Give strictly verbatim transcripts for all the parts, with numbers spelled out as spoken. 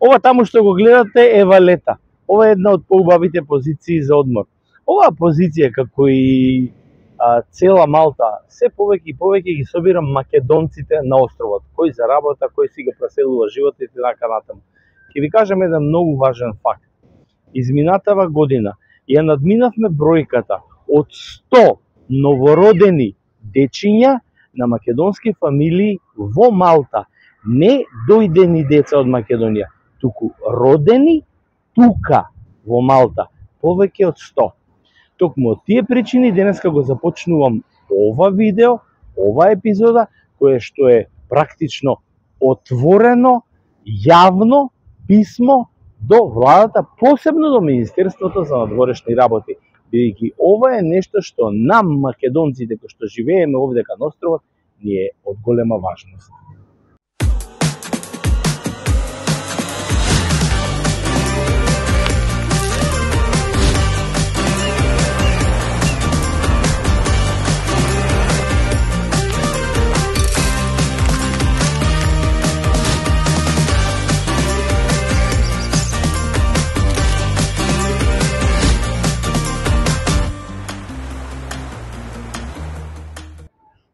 Ова таму што го гледате е Валета. Ова е една од поубавите позиции за одмор. Оваа позиција, како и а, цела Малта, се повеќе и повеќе ги собира македонците на островот, кој за работа, кој си го преселува животот и така натаму. Ќе ви кажам еден многу важен факт. Изминатава година ја надминавме бројката од сто новородени дечиња на македонски фамилии во Малта. Не дојдени деца од Македонија, туку родени тука во Малта, повеќе од сто. Токму од тие причини денеска го започнувам ова видео, ова епизода, кое што е практично отворено, јавно писмо до владата, посебно до Министерството за надворешни работи, бидејќи ова е нешто што нам македонците кои што живееме овдека на островот ни е од голема важност.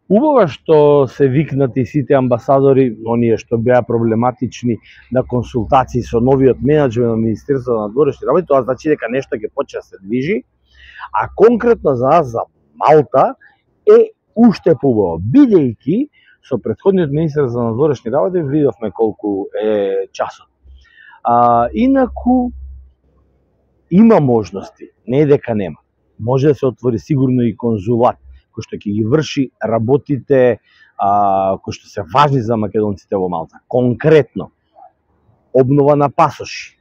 Убаво што се викнати сите амбасадори, оние што беа проблематични на консултации со новиот менеджмент на Министерството на надворешни работи, тоа значи дека нешто ќе почне да се движи, а конкретно за нас, за Малта, е уште поубаво, бидејќи со претходниот министер за надворешни работи видовме колку е часот. А, инаку има можности, не е дека нема. Може да се отвори сигурно и конзулат, кој што ќе ги врши работите а, кои што се важни за македонците во Малта. Конкретно, обнова на пасоши,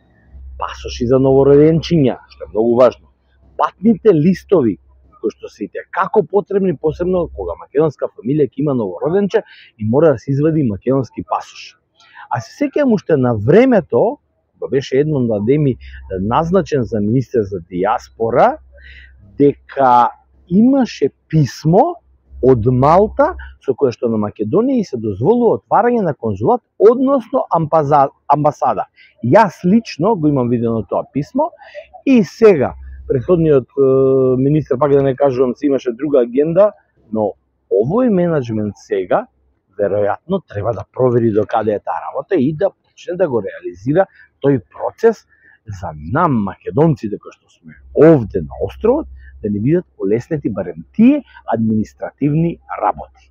пасоши за новороденчиња, што е многу важно, патните листови, кои што се ите како потребни, посебно кога македонска фамилија ќе има новороденче и мора да се извади македонски пасош. А се сеќавам уште на времето, кога беше Едмонд Адеми назначен за министер за диаспора, дека имаше писмо од Малта со кое што на Македонија и се дозволува отварање на конзулат, односно амбасада. Јас лично го имам видено тоа писмо и сега претходниот е, министр, пак да не кажувам, се имаше друга агенда, но овој менеджмент сега веројатно треба да провери до каде е таа работа и да почне да го реализира тој процес за нам македонците кои што сме овде на островот, да не бидат олеснети барем тие административни работи.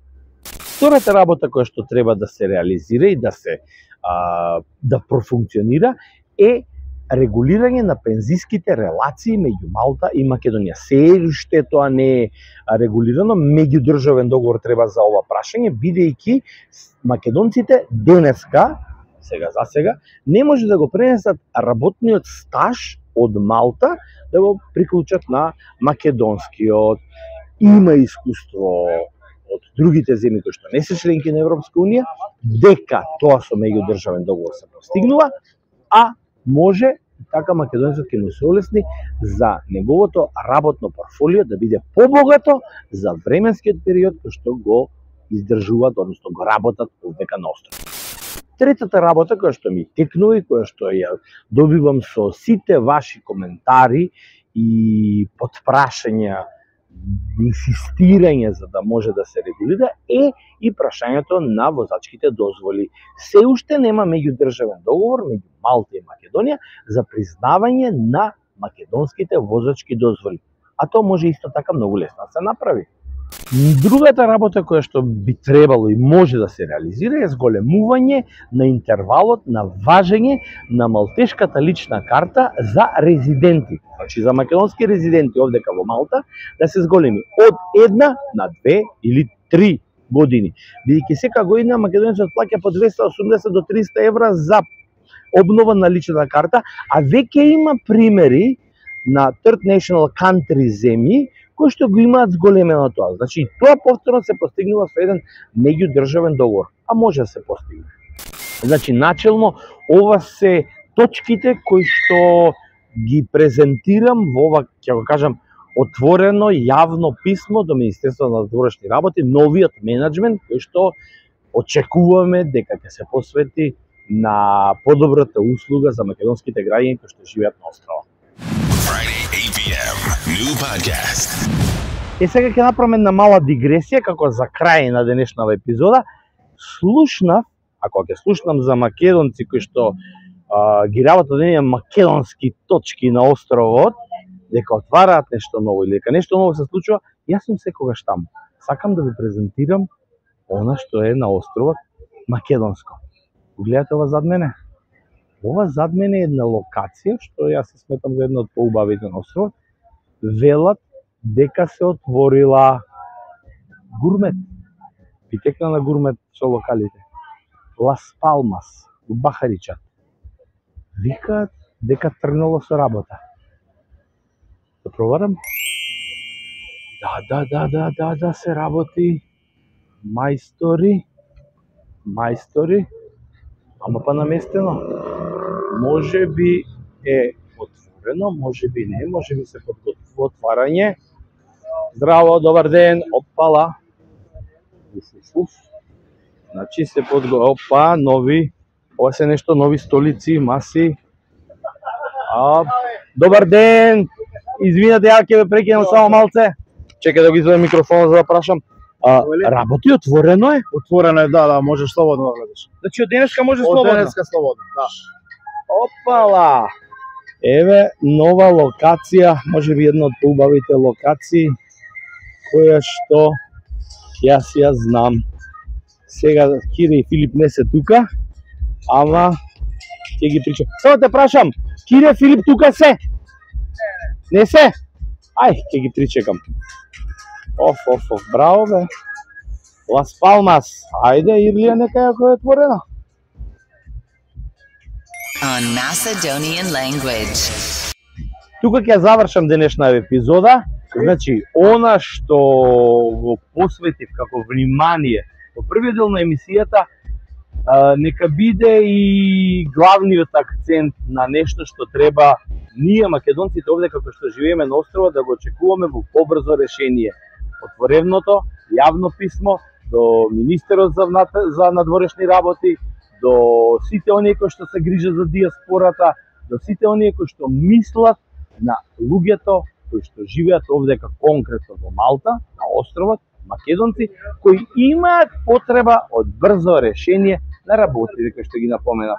Втората работа која што треба да се реализира и да се а, да профункционира е регулирање на пензиските релации меѓу Малта и Македонија. Се уште тоа не е регулирано, меѓудржавен договор треба за ова прашање, бидејќи македонците денеска, сега за сега, не може да го пренесат работниот стаж од Малта да го приклучат на македонскиот. Има искуство од другите земји кои што не се членки на Европска унија, дека тоа со меѓудржавен договор се постигнува, а може и така македонецот ќе му се олесни за неговото работно портфолио да биде побогато за временскиот период кој што го издржуваат, односно го работат овдека на островот. Третата работа која што ми текнува и која што ја добивам со сите ваши коментари и потпрашања, инсистирање за да може да се регулира е и прашањето на возачките дозволи. Се уште нема меѓудржавен договор меѓу Малта и Македонија за признавање на македонските возачки дозволи. А тоа може исто така многу лесно да се направи. Другата работа која што би требало и може да се реализира е зголемување на интервалот на важење на малтешката лична карта за резиденти. Значи за македонски резиденти овдека во Малта да се зголеми од една на две или три години. Бидејќи сека година македонецот плаќа по двеста и осумдесет до триста евра за обнова на личната карта, а веќе има примери на Third National Country земји кои што го имаат зголемено тоа. Значи, тоа повторно се постигнува со еден меѓудржавен договор, а може да се постигне. Значи, начелно, ова се точките кои што ги презентирам во ова, ќе го кажам, отворено, јавно писмо до Министерството на надворешни работи, новиот менеджмент кој што очекуваме дека ќе се посвети на подобрата услуга за македонските граѓани кои што живеат на острова. Friday eight p m New podcast. Е, сега ќе направиме една мала дигресија како за крај на денешната епизода. Слушнав, ако ќе слушнам за македонци кои што а, ги работат оние македонски точки на островот, дека отвараат нешто ново или дека нешто ново се случува, јас сум секогаш таму. Сакам да ви презентирам она што е на островот македонско. Гледате ова зад мене? Ова зад мене е една локација што јас се сметам за една од поубавите на островот. Велат дека се отворила гурмет, питекна на гурмет со локалите. Лас Палмас, у Бахаричат. Викаат дека тргнало со работа. Да проварам? Да, да, да, да, да, да, се работи. Мајстори, мајстори, ама па наместено. Може би е отворено, може би не, може би се подготвува отварање. Здраво, добар ден, опала. Уф, уф, уф. Значи се подготвува, опа, нови, ова се нешто, нови столици, маси. А, добар ден, извинете, ја ќе ве прекинам само малце. Чекај да го извадам микрофонот за да прашам. А, работи, отворено е? Отворено е, да, да, можеш слободно да гледаш. Значи од денеска може Од слободно? денеска слободно, да. Опала! Еве нова локација, може би една од поубавите локации, која што јас ја знам. Сега Кире и Филип не се тука, ама ќе ги причам. Само те прашам, Кире, Филип тука се? Не се? Ај, ќе ги причекам. Оф, оф, оф, браво бе. Лас Палмас, ајде, Ирлија нека ја која е отворена. On Macedonian language. Тука ќе завршам денешна епизода. Значи, она што го посветив како внимание во првиот дел на емисијата, а, нека биде и главниот акцент на нешто што треба ние македонците овде како што живееме на острова да го очекуваме во побрзо решение. Отворевното јавно писмо до министерот за, за надворешни работи, до сите оние кои што се грижат за диаспората, до сите оние кои што мислат на луѓето кои што живеат овде конкретно во Малта, на островот, македонци, кои имаат потреба од брзо решение на работите кои што ги напоменав.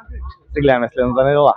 Се гледаме следната недела.